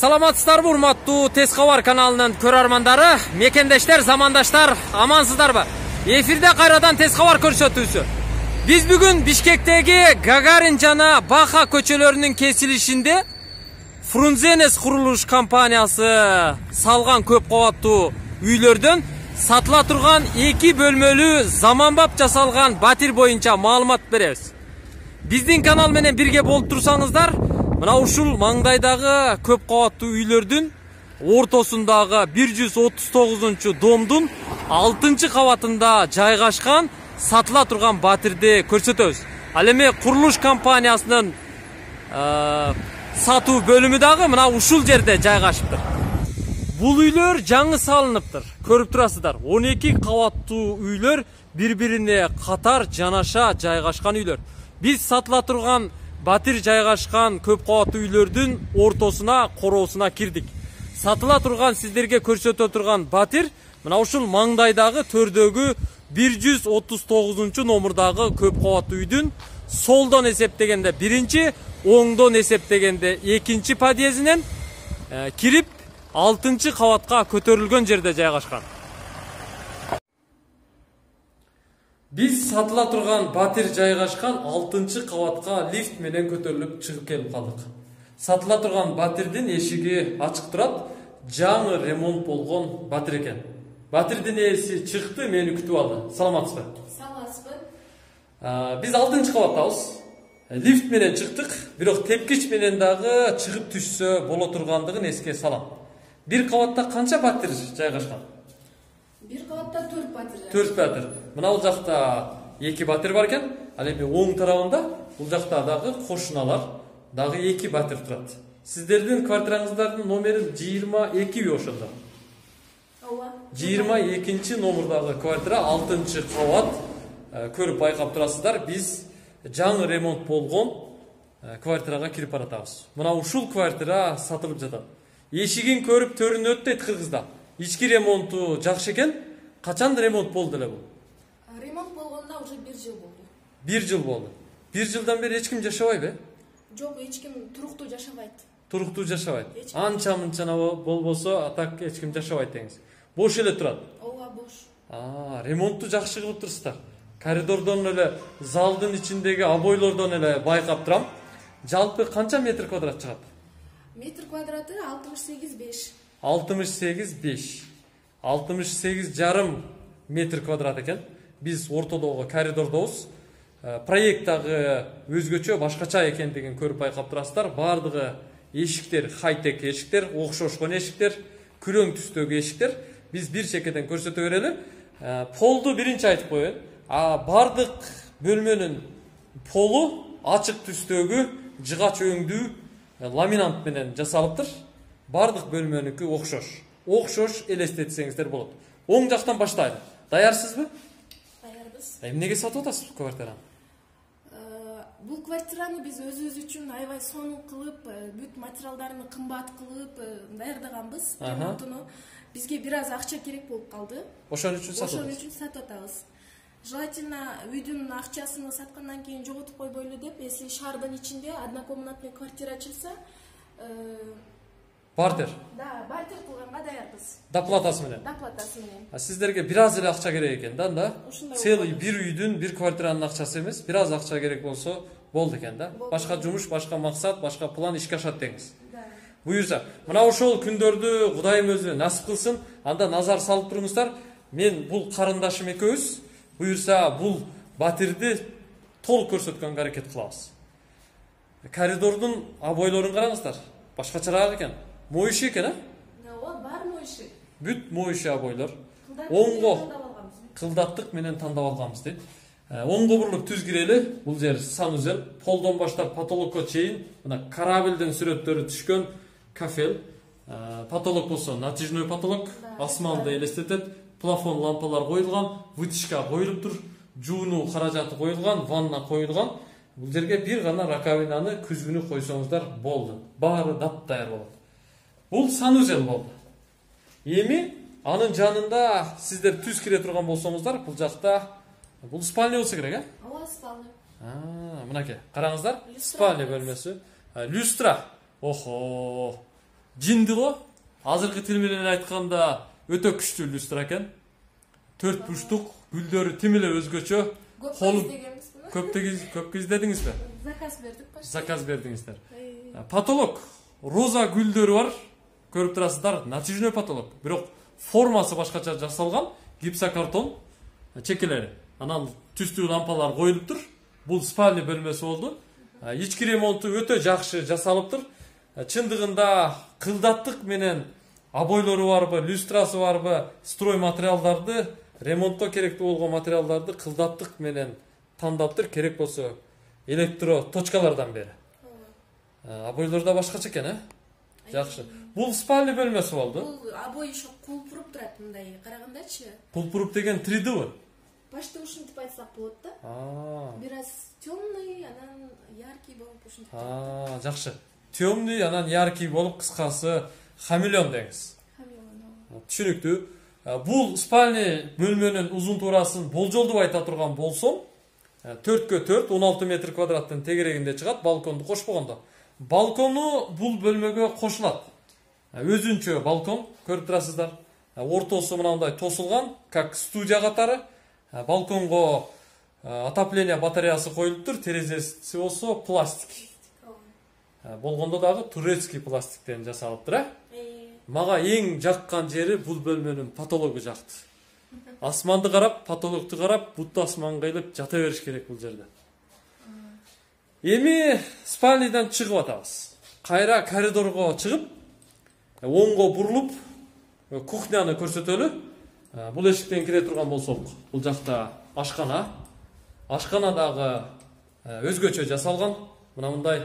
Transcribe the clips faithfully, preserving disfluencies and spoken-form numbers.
Саламатсыздарбы, урматтуу Тез кабар каналынын көрөрмандары, мекендештер, замандаштар, амансыздарбы? Эфирде кайрадан Тез кабар көрсөтүүсү. Биз бүгүн Бишкектеги Гагарин жана Баха көчөлөрүнүн кесилишинде Фрунзенес курулуш компаниясы салган көп кабаттуу үйлөрдөн сатыла турган эки бөлмөлүү заманбап жасалган батир боюнча маалымат беребиз. Биздин канал менен бирге болуп турсаңыздар, мына ушул маңдайдагы көп кабаттуу үйлөрдүн ортосундагы бир жүз отуз тогузунчу домдун алтынчы кабатында жайгашкан сатыла турган батирди көрсөтөбүз. Ал эми курулуш компаниясынын сатуу бөлүмү дагы мына ушул жерде жайгашыптыр. Бул үйлөр жаңы салыныптыр. Көрүп турасыздар, он эки кабаттуу үйлөр бири-бирине катар жанаша жайгашкан үйлөр. Биз сатыла турган батир жайгашкан көп кабаттуу үйлөрдүн ортосуна, короосуна кирдик. Сатыла турган сиздерге көрсөтө турган батир мына ушул маңдайдагы төрдөгү бир жүз отуз тогузунчу номурдагы көп кабаттуу үйдүн солдон эсептегенде биринчи, оңдон эсептегенде экинчи подъездинен э, кирип алтынчы кабатка көтөрүлгөн жерде жайгашкан. Биз сатыла турган батир жайгашкан алтынчы кабатка лифт менен көтөрүлүп чыгып келип калдык. Сатыла турган батирдин эшиги ачык турат, жаңы ремонт болгон батир экен. Батирдин ээси чыкты, мени күтүп алды. Саламатсызбы? Саламатсызбы. Биз алтынчы кабаттабыз. Лифт менен чыктык, бирок тепкич менен дагы чыгып түшсө боло тургандыгын эске салам. Бир кабатта канча батир жайгашкан? Бир кабатта төрт батир. төрт батир. Мына бул жакта эки батир бар экен. Ал эми оң тарабында бул жакта дагы кошуналар дагы эки батир турат. Сиздердин квартираңыздардын номери жыйырма экиби ошондо? Ооба. жыйырма экинчи номурдагы квартира алтынчы кабат. Көрүп байкап турасыздар, биз жаңы ремонт болгон квартирага кирип баратабыз. Мына ушул квартира сатылып жатат. Эшигин көрүп төрүнөт дейт кыргызда. Ички ремонту жакшы экен. Качан ремонт болду эле бул? Ремонт болгондо уже бир жыл болду. бир жыл болду. бир жылдан бери эч ким жашабайбы? Жок, эч ким туруктуу жашабайт. Туруктуу жашабайт. Анча-мынча болбосо, атак эч ким жашабайт деңиз. Бош эле турат. Ооба, бош. А, ремонтту жакшы кылып турсуздар. Коридордон эле, залдын ичиндеги обойлордон эле байкап турам. Жалпы канча метр квадрат чыгат? Метр квадраты алтымыш сегиз беш. алтымыш сегиз беш. алтымыш сегиз жарым метр квадрат экен. Биз ортодогу коридордобуз. Проекттагы өзгөчө башкача экендигин көрүп байкап турасыздар. Бардыгы эшиктер, хай-тек эшиктер, окшошкон эшиктер, күрөң түстөгү эшиктер. Биз бир чекеден көрсөтө берели. Полду биринчи айтып коеюн. А бардык бөлмөнүн полу ачык түстөгү жыгач өңдүү ламинант менен жасалыптыр. Бардык бөлмөнүкү окшош. Окшош элестетсеңиздер болот. Оң жактан баштайлы. Даярсызбы? Даярбыз. Эмнеге сатып атасыз бул квартираны? Бул квартираны биз өзүбүз үчүн аябай сонун кылып, бүт материалдарын кымбат кылып даярдаганбыз. Ремонтуну бизге бир аз акча керек болуп калды. Ошон үчүн сатып Ошон үчүн сатып атабыз. Желательно үйдүн акчасын саткандан кийин жоготуп койбойлу деп, если шаардын ичинде однокомнатный квартира ачылса, бартер. Да, бартер кылганга даярбыз. Доплатасы менен. Доплатасы менен. А сиздерге бир аз эле акча керек экен да, да? Ушундай Целый бир үйдүн, бир квартиранын акчасы эмес, бир аз акча керек болсо болду экен да. Башка жумуш, башка максат, башка план ишке ашат деңиз. Да. Буюрса, мына ошол күндөрдү Кудайым өзү насип кылсын, анда назар салып туруңуздар. Мен бул карындашым экөөбүз, буюрса бул батирди толук көрсөткөнгө аракет кылабыз. Коридордун обойлорун караңыздар. Башкачараак экен. Моюши экен, а? Ооба, бар моюши. Бүт моюши обойлор. Оңго кылдаттык менен тандап алганбыз дейт. Оңго буруп түз кирели, бул жер санузел, полдон баштап потолокко чейин мына корабльдин сүрөттөрү түшкөн кафел. Потолок болсо натяжной потолок, асманды элестетет. Плафон лампалар коюлган, вытяжка коюлуптур, жууну каражаты коюлган, ванна коюлган. Бул жерге бир гана раковинаны, күзгүнү койсоңуздар болду. Баары дап-даяр болот. Бул санузел болду. Эми анын жанында сиздер түз кире турган болсоңуздар, бул жакта бул спальня болсо керек, э? Ооба, спальня. А, мынакей, караңыздар, спальня бөлмөсү. Люстра. Охо. жинди го. Азыркы тил менен айтканда өтө күчтүү люстра экен. Төрт бурчтук, гүлдөрү тим эле өзгөчө. Көп көп издедиңизби? Заказ бердик. Заказ бердиңиздер. Потолок роза гүлдөрү бар. Көрүп турасыздар, натяжной потолок. Бирок формасы башкача жасалган, гипсокартон чекелери. Анан түстүү лампалар коюлуптур. Бул спальня бөлмөсү болду. Ички ремонту өтө жакшы жасалыптыр. Чындыгында кылдаттык менен обойлору барбы, люстрасы барбы, строй материалдарды, ремонтко керектүү болгон материалдарды кылдаттык менен тандаптыр. Керек болсо электро точкалардан бери. Обойлор да башкача экен, э? Жакшы. Бул спальня бөлмөсү болду. Бул обой ошо кулпуруп турат мындай карагандачы. Кулпуруп деген три ди. Почти ушинтип айтсак болот да. А. Бираз темный, анан яркий болуп ушинтип. А, жакшы. Темный, анан яркий болуп, кыскасы хамелеон деңиз. Хамелеон. Түшүнүктүү. Бул спальня бөлмөнүн узун туурасын болжолдуп айта турган болсом, төрткө төрт, он алты метр квадраттын тегерегинде чыгат, балконду кошпогондо. Балкону бул бөлмөгө кошулат. Өзүнчө балкон, көрүп турасыздар. Ортосу мындай тосулган, как студия катары. Балконго отопление батареясы коюлуптур, терезеси болсо пластик. Болгондо дагы турецкий пластиктен жасалыптыр, э? Мага эң жаккан жери бул бөлмөнүн потологу жакты. Асманды карап, потологду карап, бутты асманга илип жата бериш керек бул жерде. Эми спальнядан чыгып атабыз. Кайра коридорго чыгып, оңго бурулуп, кухняны көрсөтөлү. Бул эшиктен кире турган болсок, бул жакта ашкана. Ашкана дагы өзгөчө жасалган. Мына мындай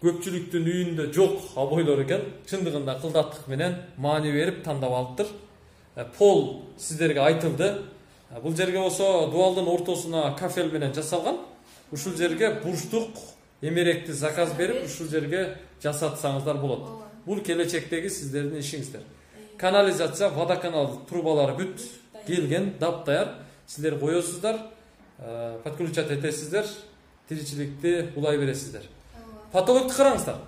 көпчүлүктүн үйүндө жок обойлор экен. Чындыгында кылдаттык менен маани берип тандап алыптыр. Пол сиздерге айтылды. Бул жерге болсо дуалдын ортосуна кафель менен жасалган. Ушул жерге бурчтук эмеректи заказ берип, ушул жерге жасатсаңыздар болот. Бул келечектеги сиздердин ишиңиздер. Канализация, водоканал трубалары бүт келген, дап-даяр. Сиздер коесуздар, подключать этесиздер, тиричиликти улай бересиздер. Потолокту караңыздар.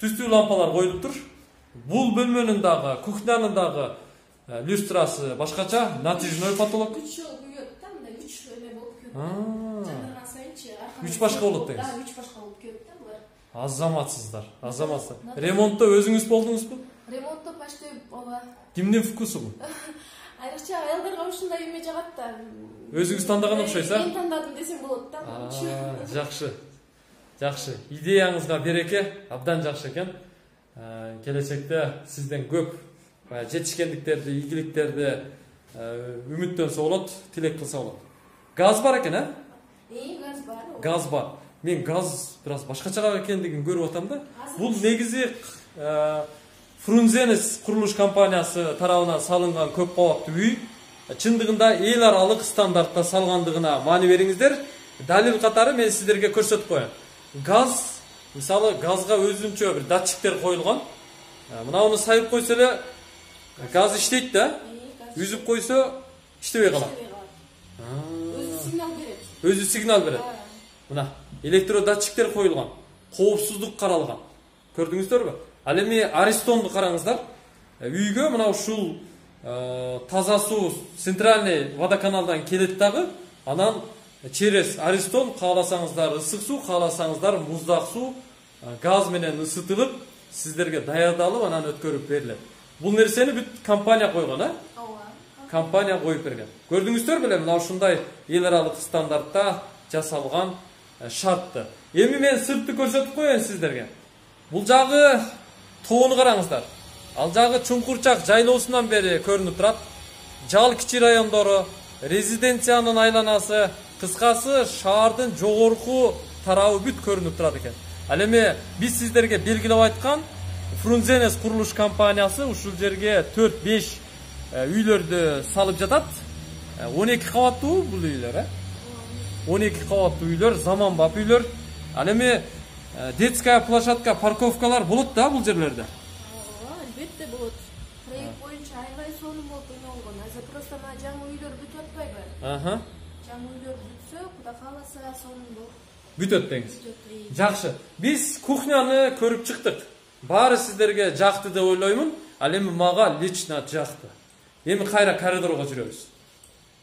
Түстүү лампалар коюлуптур. Бул бөлмөнүн дагы, кухнянын дагы люстрасы башкача, натяжной потолок. үч жыл күйөт да, мындай үч эме болуп күйөт. Жандырган сайынчы арканы. үч башка болот деңиз. Да, үч башка болуп күйөт да булар. Азаматсыздар, азаматсыздар. Ремонтто өзүңүз болдуңузбу? Ремонтто почти ооба. Кимдин вкусу бул? Айрыкча аялдарга ушундай эме жагат да. Өзүңүз тандаган окшойсуз, а? Мен тандадым десем болот да. Жакшы. Жакшы. Идеяңызга береке, абдан жакшы экен. Келечекте сизден көп жетишкендиктерди, ийгиликтерди үмүттөнсө болот, тилек кылса болот. Газ бар экен, а? Э, газ бар. Газ бар. Мен газ бираз башкача экендигин көрүп атам да. Бул негизи Фрунзенес курулуш компаниясы тарабынан салынган көп кабаттуу үй. Чындыгында эл аралык стандартта салгандыгына маани бериңиздер. Далил катары мен сиздерге көрсөтүп коеюн. Газ, мисалы газга өзүнчө бир датчиктер коюлган. Мынауну сайып койсо эле газ иштейт да. Үзүп койсо иштебей калат. Өзү сигнал берет. Өзү сигнал берет. Мына электродатчиктер коюлган. Коопсуздук каралган. Көрдүңүздөрбү? Ал эми Аристонду караңыздар. Үйгө мына ушул таза суу центральный водоканалдан келет дагы. Анан через Аристон кааласаңыздар ысык суу, кааласаңыздар муздак суу газ менен ысытылып, сиздерге даярдалып, анан өткөрүп берилет. Бул нерсени бүт компания койгон, а? Ооба. Компания коюп берген. Көрдүңүздөр беле, мына ушундай эл аралык стандартта жасалган шартты. Эми мен сыртты көрсөтүп коеюн сиздерге. Бул жагы тоону караңыздар. Ал жагы Чуңкурчак жайлоосунан бери көрүнүп турат. Жал кичи райондору, резиденциянын айланасы, кыскасы шаардын жогорку тарабы бүт көрүнүп турат экен. Ал эми биз сиздерге белгилеп айткан Фрунзенес курулуш компаниясы ушул жерге төрт беш үйлөрдү салып жатат. он эки кабаттуу бул үйлөр, э? он эки кабаттуу үйлөр, заманбап үйлөр. Ал эми детская площадка, парковкалар болот да бул жерлерде. Ооба, албетте болот. Проект боюнча аябай сонун болуп ойнолгон. Азыр просто мына жаңы үйлөр бүтүп атпайбы? Аха. Жаңы үйлөр бүтсө, Кудай кааласа сонун болуп. Бүтөт деңиз. Жакшы. Биз кухняны көрүп чыктык. баары сиздерге жакты деп ойлоймун. Ал эми мага лично жакты. Эми кайра коридорго жүрөбүз.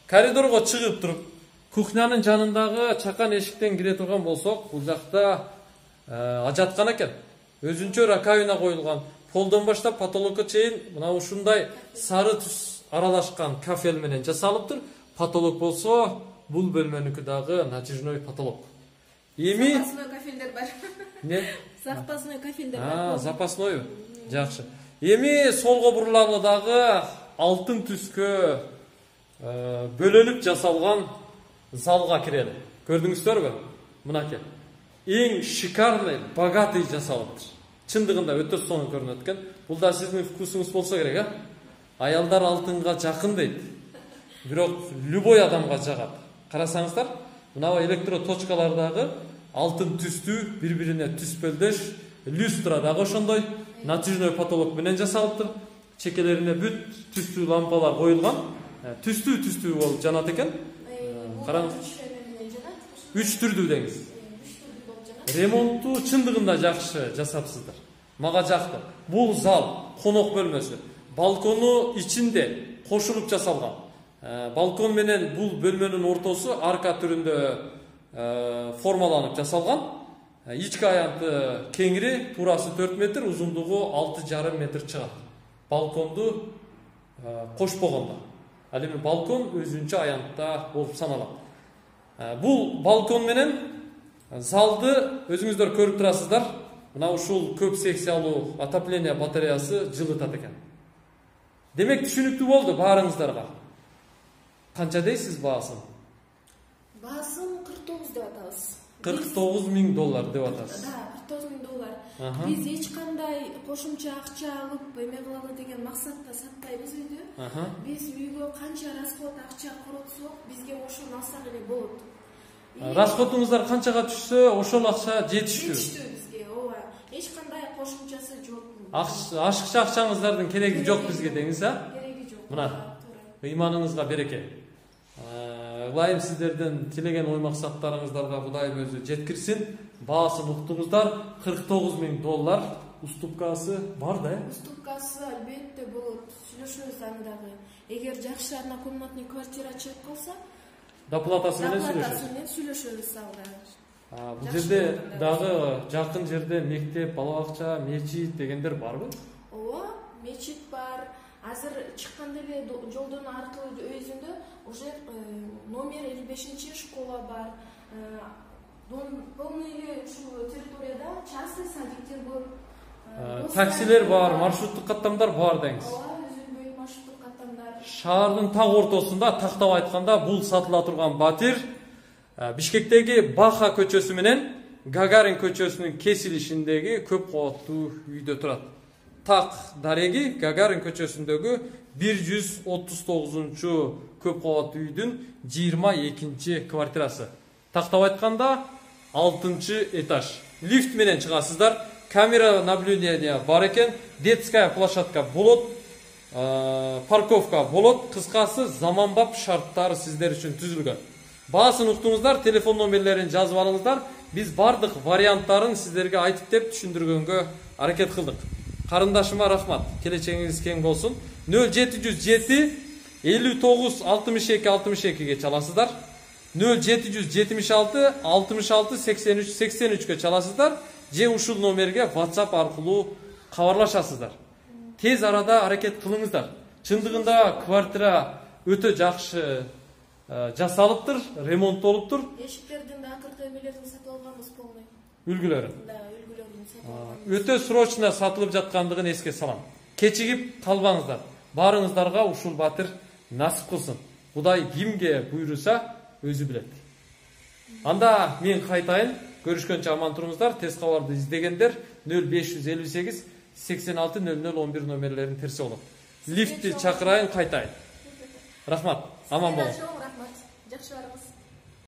Коридорго чыгып туруп, кухнянын жанындагы чакан эшиктен кире турган болсок, бул жакта ажаткана экен. Өзүнчө раковина коюлган. Полдон баштап потолокко чейин мына ушундай сары түс аралашкан кафель менен жасалыптыр. Потолок болсо, бул бөлмөнүкү дагы натяжной потолок. Эми запасной кафелдер бар. Не? Запасной кафелдер бар. А, запасной. Жакшы. Эми солго бурулалы дагы алтын түскө бөлөлүп жасалган залга кирели. Көрдүңүздөрбү? Мынакей. Эң шикарный, богатый жасалыптыр. Чындыгында өтө сонун көрүнөт экен. Бул да сиздин вкусуңуз болсо керек, а? Аялдар алтынга жакын дейт. Бирок любой адамга жагат. Карасаңыздар, мына электроточкалардагы алтын түстүү, бири-бирине түспөлдөш, люстра дагы ошондой натяжной потолок менен жасалыптыр. Чекелерине бүт түстүү лампалар коюлган. Түстүү-түстүү болуп жанат экен. Караңыз. Үч түрдүү деңиз. Ремонтту чындыгында жакшы жасапсыздар. Мага жакты. Бул зал, конок бөлмөсү. Балкону ичинде кошулуп жасалган. Балкон менен бул бөлмөнүн ортосу арка түрүндө формаланып жасалган. Ички аянты кеңири, турасы төрт метр, узундугу алты жарым метр чыгат. Балконду кошпогондо. Ал эми балкон өзүнчө аянтта болуп саналат. Бул балкон менен залды өзүңүздөр көрүп турасыздар. Мына ушул көп секциялуу отопление батареясы жылытат экен. Демек түшүнүктүү болду баарыңыздарга. Канча дейсиз баасын? Баасын кырк тогуз деп атабыз. кырк тогуз миң доллар деп атасыз. Да, кырк тогуз миң доллар. Биз эч кандай кошумча акча алып эме кылалы деген максатта сатпайбыз үйдү. Биз үйгө канча расход акча коротсок, бизге ошону алсак эле болот. Расходуңуздар канчага түшсө, ошол акча жетиштүү. Жетиштүү бизге, ооба. Эч кандай кошумчасы жок. Ашыкча акчаңыздардын кереги жок бизге деңиз, а? Кереги жок. Мына, ыйманыңызга береке. Кудайым сиздердин тилеген ой максаттарыңыздарга Кудайым өзү жеткирсин. Баасын уктуңуздар, кырк тогуз миң доллар. Уступкасы бар да, э? Уступкасы албетте болот. Сүйлөшөбүз аны дагы. Эгер жакшы однокомнатный квартира чыгып калса, доплатасы менен сүйлөшөбүз. Доплатасы менен сүйлөшөбүз алда. Бул жерде дагы жакын жерде мектеп, бала бакча, мечит дегендер барбы? Ооба, мечит бар. Азыр чыккан деле жолдон аркылуу өзүндө уже номер элүү бешинчи школа бар. Полный ушул территорияда частный садиктер көп. Таксилер бар, маршруттук каттамдар бар деңиз. Ооба, өзүндөй маршруттук каттамдар. Шаардын так ортосунда, тактап айтканда, бул сатыла турган батир Бишкектеги Баха көчөсү менен Гагарин көчөсүнүн кесилишиндеги көп кабаттуу үйдө турат. Так дареги Гагарин көчөсүндөгү бир жүз отуз тогузунчу көп кабаттуу үйдүн жыйырма экинчи квартирасы. Тактап айтканда алтынчы этаж. Лифт менен чыгасыздар. Камера наблюдения бар экен. Детская площадка болот. Парковка болот. Кыскасы заманбап шарттар сиздер үчүн түзүлгөн. Баасын уктуңуздар, телефон номерлерин жазып алыңыздар. Биз бардык варианттарын сиздерге айтып деп түшүндүргөнгө аракет кылдык. Карындашыма рахмат. Келечегиңиз кең болсун. нөл жети жүз жети элүү тогуз алтымыш эки алтымыш экиге чаласыздар. нөл жети жүз жетимиш алты алтымыш алты сексен үч сексен үчкө чаласыздар. Же ушул номерге WhatsApp аркылуу кабарлашасыздар. Тез арада аракет кылыңыздар. Чындыгында квартира өтө жакшы жасалыптыр, ремонттолуптур. Эшиктердин да акыркы эмелерин сатып алганбыз полный. Үлгүлөрүн. Да, үлгүлөрүн сатып алганбыз. Өтө срочно сатылып жаткандыгын эске салам. Кечигип калбаңыздар. Баарыңыздарга ушул батир насип кылсын. Кудай кимге буйруса өзү билет. Анда мен кайтайын. Көрүшкөнчө аман туруңуздар. Тез кабарды издегендер нөл беш жүз элүү сегиз сексен алты нөл нөл он бир номерлерин терсе болот. Лифтти чакырайын, кайтайын. Рахмат. Аман болуңуз. Рахмат. Жакшы барыңыз.